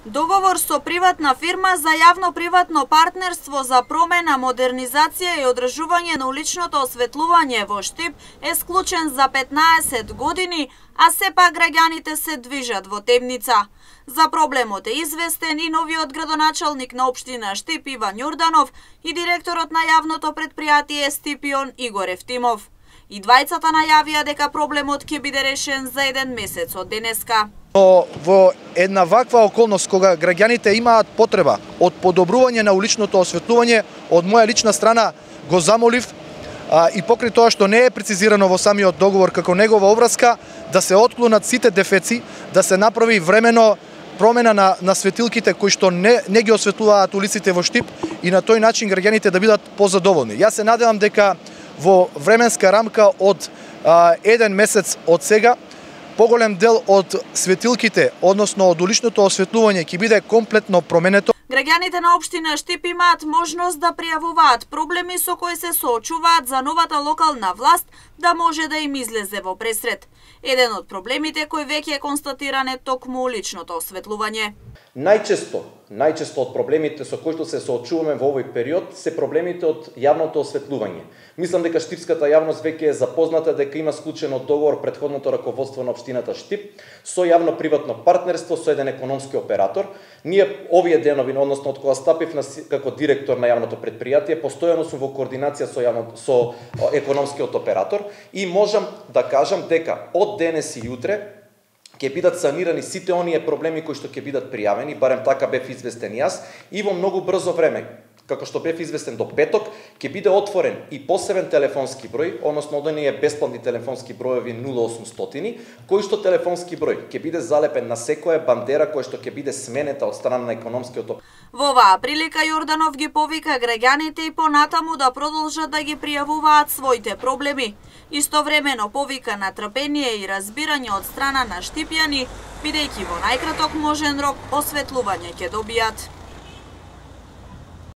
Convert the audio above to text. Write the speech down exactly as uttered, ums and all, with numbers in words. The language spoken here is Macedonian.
Договор со приватна фирма за јавно-приватно партнерство за промена, модернизација и одржување на уличното осветлување во Штип е склучен за петнаесет години, а сепак граѓаните се движат во темница. За проблемот е известен и новиот градоначалник на општина Штип Иван Јорданов и директорот на јавното предпријатие Стипион Игор Ефтимов. И двајцата најавија дека проблемот ќе биде решен за еден месец од денеска. Но во една ваква околност кога граѓаните имаат потреба од подобрување на уличното осветлување, од моја лична страна го замолив а, и покрај тоа што не е прецизирано во самиот договор како негова обврска, да се отклонат сите дефеци, да се направи времено промена на, на светилките кои што не, не ги осветлуваат улиците во Штип и на тој начин граѓаните да бидат позадоволни. Јас се надевам дека во временска рамка од а, еден месец од сега, поголем дел од светилките, односно од уличното осветлување, ќе биде комплетно променето. Граѓаните на општина Штип имаат можност да пријавуваат проблеми со кои се соочуваат за новата локална власт да може да им излезе во пресред. Еден од проблемите кој веќе е констатиран е токму уличното осветлување. Најчесто, најчесто од проблемите со кои што се соочуваме во овој период се проблемите од јавното осветлување. Мислам дека штипската јавност веќе е запозната дека има склучено договор претходното раководство на општината Штип со јавно-приватно партнерство со еден економски оператор. Ние овие денови, односно од кога стапив на, како директор на јавното предпријатие, постојано сум во координација со јавно, со економскиот оператор и можам да кажам дека од денес и јутре ќе бидат санирани сите оние проблеми кои што ќе бидат пријавени, барем така бев известен јас, и во многу брзо време, како што бев известен до петок, ќе биде отворен и посебен телефонски број, односно оние бесплатни телефонски броеви нула осумстотини, кој што телефонски број ќе биде залепен на секоја бандера која што ќе биде сменета од страна на економскиот оператор. Во оваа прилика Јорданов ги повика граѓаните и понатаму да продолжат да ги пријавуваат своите проблеми. Истовремено повика на трпение и разбирање од страна на штипјани, бидејќи во најкраток можен рок осветлување ќе добијат.